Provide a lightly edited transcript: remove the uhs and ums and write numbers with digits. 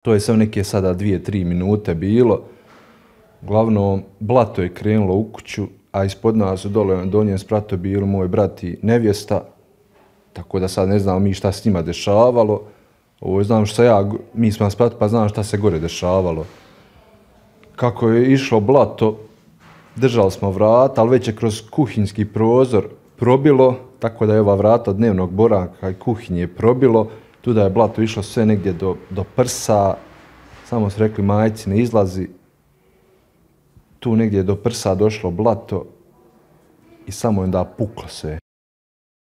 To je sve neke sada 2-3 minute bilo. Uglavnom, blato je krenulo u kuću, a ispod nas u donjem spratu bili moj brat i nevjesta. Tako da sad ne znamo mi šta s njima dešavalo. Ovo znam što mi smo na spratu pa znam šta se gore dešavalo. Kako je išlo blato, držali smo vrata, ali već je kroz kuhinjski prozor probilo, tako da je ova vrata od dnevnog boravka i kuhinje probilo. Tu da je blato išlo sve negdje do prsa, samo su rekli majci ne izlazi. Tu negdje do prsa došlo blato i samo je onda puklo sve.